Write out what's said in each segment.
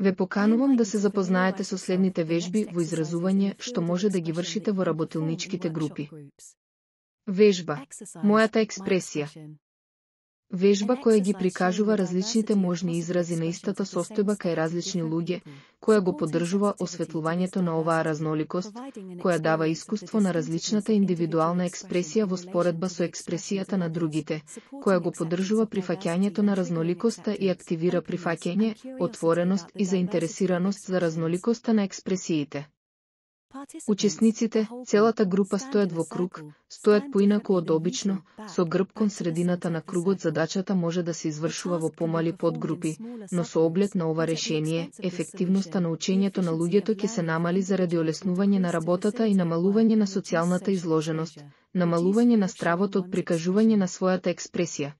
Ве поканувам да се запознаете со следните вежби во изразување што може да ги вршите во работилничките групи. Вежба. Мојата експресија. Вежба која ги прикажува различните можни изрази на истата состојба кај различни луѓе, која го поддржува осветлувањето на оваа разноликост, која дава искуство на различната индивидуална експресија во споредба со експресијата на другите, која го поддржува прифаќањето на разноликоста и активира прифаќање, отвореност и заинтересираност за разноликоста на експресиите. Учесниците, целата група стојат во круг, стојат поинаку од обично, со грб кон средината на кругот. Задачата може да се извршува во помали подгрупи, но со оглед на ова решение, ефективноста на учењето на луѓето ќе се намали заради олеснување на работата и намалување на социјалната изложеност, намалување на стравот од прикажување на својата експресија.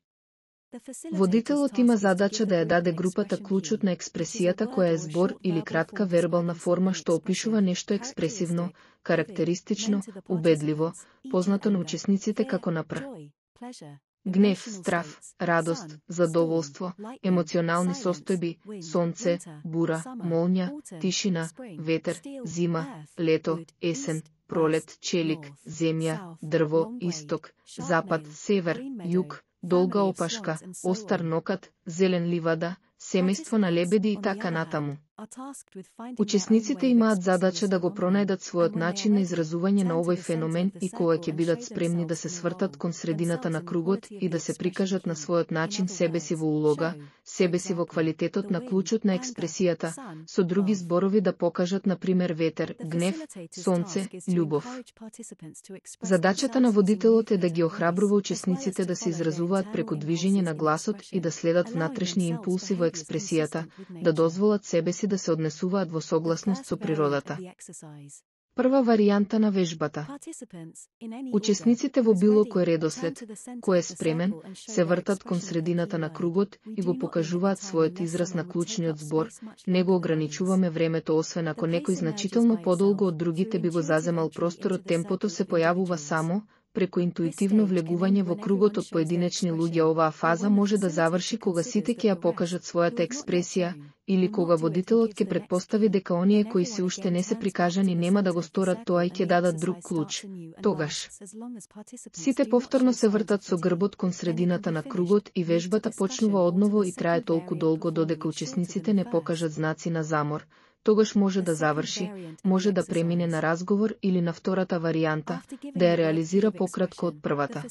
Водителот има задача да ја даде групата клучот на експресијата која е збор или кратка вербална форма што опишува нешто експресивно, карактеристично, убедливо, познато на учесниците како напр. Гнев, страв, радост, задоволство, емоционални состојби, сонце, бура, молња, тишина, ветер, зима, лето, есен, пролет, челик, земја, дрво, исток, запад, север, југ, долга опашка, остар нокат, зелен ливада, семејство на лебеди и така натаму. Учесниците имаат задача да го пронајдат својот начин на изразување на овој феномен и кога ќе бидат спремни да се свртат кон средината на кругот и да се прикажат на својот начин себе си во улога, себе си во квалитетот на клучот на експресијата, со други зборови да покажат на пример ветер, гнев, сонце, љубов. Задачата на водителот е да ги охрабрува учесниците да се изразуваат преку движење на гласот и да следат внатрешни импулси во експресијата, да дозволат себе си да се однесуваат во согласност со природата. Прва варијанта на вежбата. Учесниците во било кој редослед, кој е спремен, се вртат кон средината на кругот и го покажуваат својот израз на клучниот збор. Не го ограничуваме времето, освен ако некој значително подолго од другите би го заземал просторот. Темпото се појавува само преку интуитивно влегување во кругот од поединечни луѓе. Оваа фаза може да заврши кога сите ќе ја покажат својата експресија, или кога водителот ќе предпостави дека оние кои се уште не се прикажани нема да го сторат тоа и ќе дадат друг клуч. Тогаш сите повторно се вртат со грбот кон средината на кругот и вежбата почнува одново и трае толку долго додека учесниците не покажат знаци на замор. Тогаш може да заврши, може да премине на разговор или на втората варијанта, да ја реализира пократко од првата.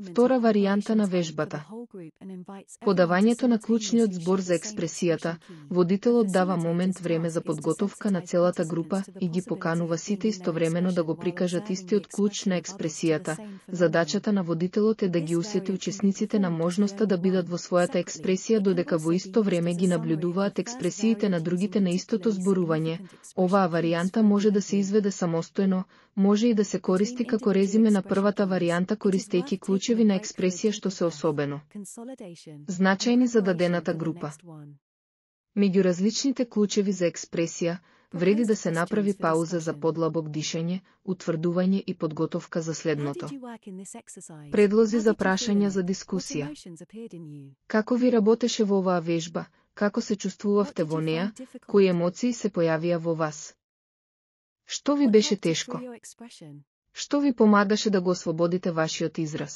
Втора варијанта на вежбата. Подавањето на клучниот збор за експресијата. Водителот дава момент време за подготовка на целата група и ги поканува сите истовремено да го прикажат истиот клуч на експресијата. Задачата на водителот е да ги усети учесниците на можноста да бидат во својата експресија додека во исто време ги наблюдуваат експресиите на другите на истото зборување. Оваа варијанта може да се изведе самостојно, може и да се користи како резиме на првата варијанта користејќи клучеви на експресија што се особено значајни за дадената група. Меѓу различните клучеви за експресија, вреди да се направи пауза за подлабок дишење, утврдување и подготовка за следното. Предлози за прашања за дискусија. Како ви работеше во оваа вежба? Како се чувствувавте во неа? Кои емоции се појавија во вас? Што ви беше тешко? Што ви помагаше да го ослободите вашиот израз?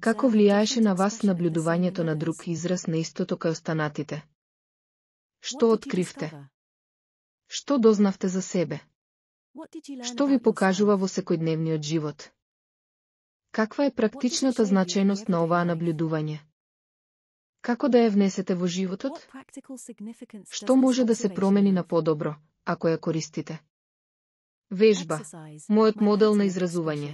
Како влијаеше на вас наблюдувањето на друг израз на истото кај останатите? Што откривте? Што дознавте за себе? Што ви покажува во секојдневниот живот? Каква е практичната значајност на оваа наблюдување? Како да ја внесете во животот? Што може да се промени на подобро, ако ја користите? Вежба. Мојот модел на изразување.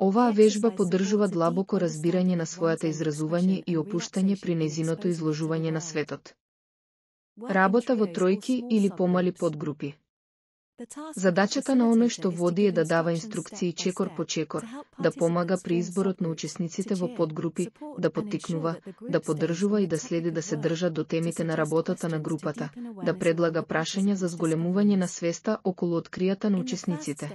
Оваа вежба поддржува длабоко разбирање на својата изразување и опуштање при нејзиното изложување на светот. Работа во тројки или помали подгрупи. Задачата на оној што води е да дава инструкции чекор по чекор, да помага при изборот на учесниците во подгрупи, да поттикнува, да поддржува и да следи да се држат до темите на работата на групата, да предлага прашања за зголемување на свеста околу откријата на учесниците.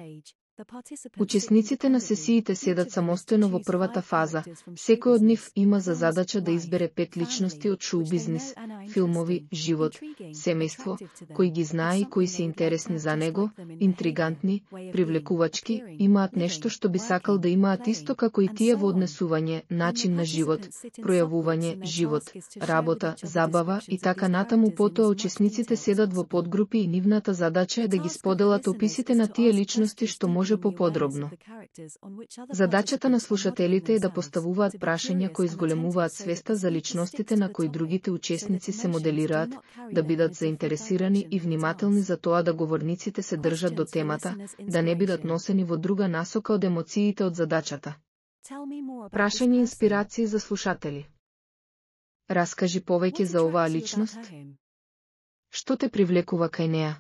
Учесниците на сесиите седат самостојно во првата фаза, секој од нив има за задача да избере 5 личности од шоу-бизнис, филмови, живот, семејство, кои ги знае и кои се интересни за него, интригантни, привлекувачки, имаат нешто што би сакал да имаат исто како и тие во однесување, начин на живот, пројавување, живот, работа, забава и така натаму. Потоа учесниците седат во подгрупи и нивната задача е да ги споделат описите на тие личности што може поподробно. Задачата на слушателите е да поставуваат прашања кои зголемуваат свеста за личностите на кои другите учесници се моделираат, да бидат заинтересирани и внимателни за тоа да говорниците се држат до темата, да не бидат носени во друга насока од емоциите од задачата. Прашање и инспирации за слушатели. Раскажи повеќе за оваа личност. Што те привлекува кај неа?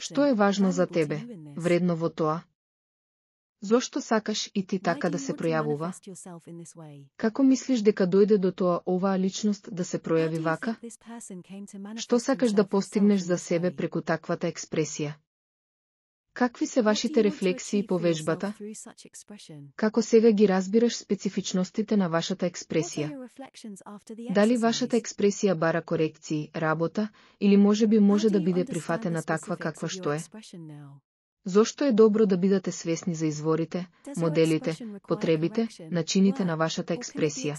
Што е важно за тебе, вредно во тоа? Зошто сакаш и ти така да се пројавува? Како мислиш дека дојде до тоа оваа личност да се пројави вака? Што сакаш да постигнеш за себе преку таквата експресија? Какви се вашите рефлексии по вежбата? Како сега ги разбираш специфичностите на вашата експресија? Дали вашата експресија бара корекции, работа, или можеби може да биде прифатена таква каква што е? Зошто е добро да бидете свесни за изворите, моделите, потребите, начините на вашата експресија?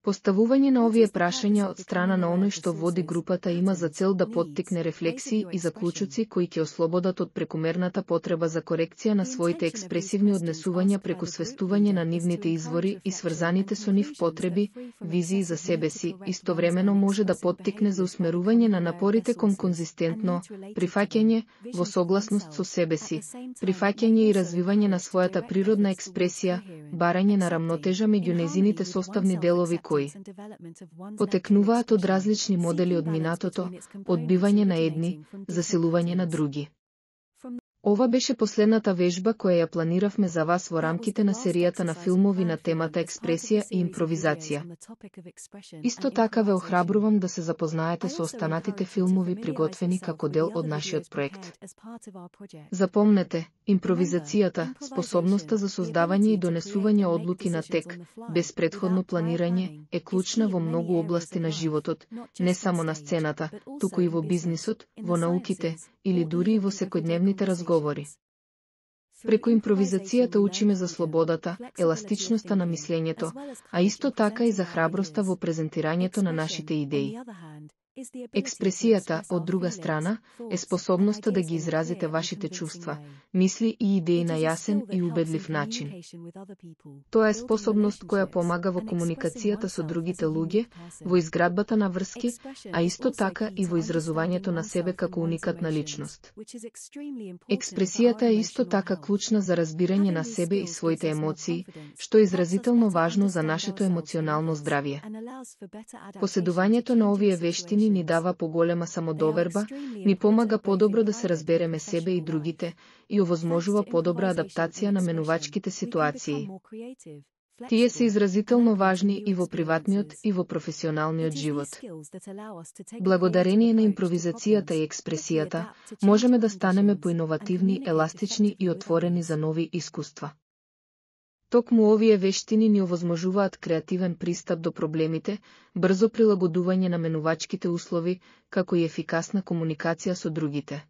Поставување на овие прашања од страна на оној што води групата има за цел да поттикне рефлексии и заклучоци кои ќе ослободат од прекумерната потреба за корекција на своите експресивни однесувања преку свестување на нивните извори и сврзаните со нив потреби, визии за себе си, истовремено може да поттикне за усмерување на напорите кон конзистентно прифаќање во согласност со себе си, прифаќање и развивање на својата природна експресија, барање на рамнотежа меѓу незините составни делови кои потекнуваат од различни модели од минатото, одбивање на едни, засилување на други. Ова беше последната вежба која ја планиравме за вас во рамките на серијата на филмови на темата експресија и импровизација. Исто така ве охрабрувам да се запознаете со останатите филмови приготвени како дел од нашиот проект. Запомнете, импровизацијата, способноста за создавање и донесување одлуки на тек, без претходно планирање, е клучна во многу области на животот, не само на сцената, туку и во бизнисот, во науките, или дури и во секојдневните разговори. Преку импровизацијата учиме за слободата, еластичноста на мислењето, а исто така и за храброста во презентирањето на нашите идеи. Експресијата, од друга страна, е способноста да ги изразите вашите чувства, мисли и идеи на јасен и убедлив начин. Тоа е способност која помага во комуникацијата со другите луѓе, во изградбата на врски, а исто така и во изразувањето на себе како уникатна личност. Експресијата е исто така клучна за разбирање на себе и своите емоции, што е изразително важно за нашето емоционално здравје. Поседувањето на овие вештини ни дава поголема самодоверба, ни помага подобро да се разбереме себе и другите и овозможува подобра адаптација на менувачките ситуации. Тие се изразително важни и во приватниот и во професионалниот живот. Благодарение на импровизацијата и експресијата, можеме да станеме поиновативни, еластични и отворени за нови искуства. Токму овие вештини ни овозможуваат креативен пристап до проблемите, брзо прилагодување на менувачките услови, како и ефикасна комуникација со другите.